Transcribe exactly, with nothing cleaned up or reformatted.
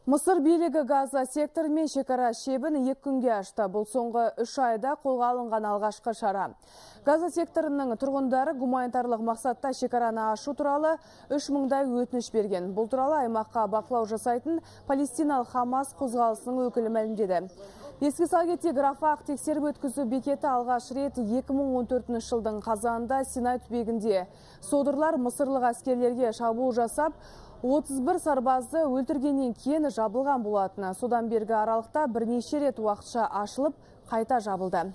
Мысыр билігі Газа секторы мен шекара шебін екі күнге ашты. Бұл соңғы үш айда қолға алынған алғашқы шара. Газа секторының тұрғындары гуманитарлық мақсатта шекараны ашу туралы үш мыңдай өтініш берген. Бұл туралы аймаққа бақылау жасайтын Палестиналық Хамас қозғалысының өкілі мәлімдеді. Еске сала кетейік, Рафах тексеріп өткізу бекеті алғаш рет екі мың он төртінші жылдың қазанында Синай түбегінде. Содырлар мысырлық әскерлерге шабуыл жасап, отыз бір сарбазды өлтіргеннен кейін жабылған болатыны. Содан бергі аралықта бірнеше рет уақытша ашылып, қайта жабылды.